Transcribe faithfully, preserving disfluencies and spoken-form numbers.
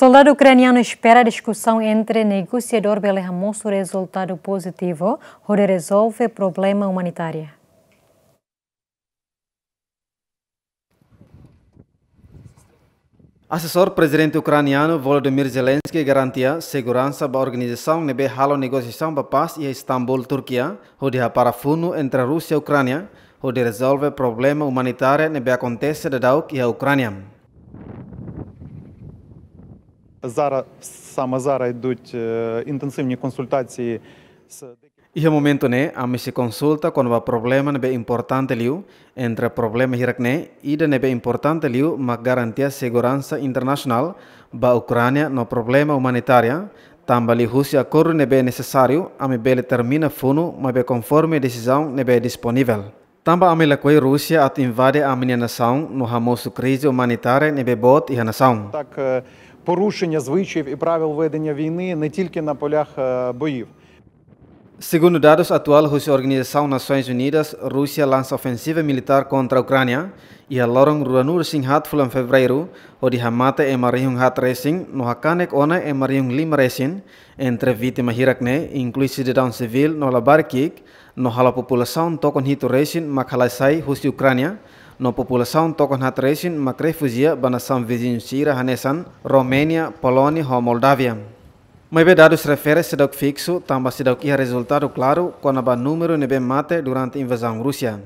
Soldadu ukranianu espera diskusaun entre negosiadór bele hamosu rezultadu pozitivu hodi rezolve problema umanitáriu. Asesór Prezidente Ukranianu Volodymyr Zelensky garantia seguransa ba organizasaun ne'ebé halo negosiasaun ba pás iha Istambul, Turkia, hodi hapara funu entre Rúsia Ukránia, hodi rezolve problema umanitáriu ne'ebé akontese daudauk iha Ukránia. Зараз, саме зараз йдуть е, інтенсивні консультації з Iha momentu ne'e, ami sei konsulta kona-ba problema ne'ebé importante liu. Entre problema hirak ne'e, ida ne'ebé importante liu mak garantia seguransa internasionál ba Ukránia no problema umanitáriu, tanba liuhusi akordu ne'ebé nesesáriu, ami bele termina funu maibé konforme desizaun ne'ebé disponivel. Tanba ami lakohi Rúsia atu invade ami-nia nasaun no hamosu krize umanitária ne'ebé boot iha nasaun. Так, е, порушення звичаїв і правил ведення війни не тільки на полях е, боїв. Segundu dadus atuál husi Organizasaun Nasoins Unidas, Rúsia lansa ofensiva militár kontra Ukránia iha loron ruanulu-resin-haat fulan Fevereiru, hodi hamate ema rihun haat resin no hakanek ona ema rihun lima resin. Entre vítima hirak ne'e inklui sidadaun sivíl no labarik ki'ik, no halo populasaun tokon hitu resin mak halai sai husi Ukránia, no populasaun tokon haat resin mak refujia ba nasaun viziñu sira hanesan Roménia, Polónia ho Moldávia. Maibé dadus refere seidauk fiksu, tanba seidauk iha rezultadu klaru kona-ba númeru ne'ebé mate durante invazaun Rúsia.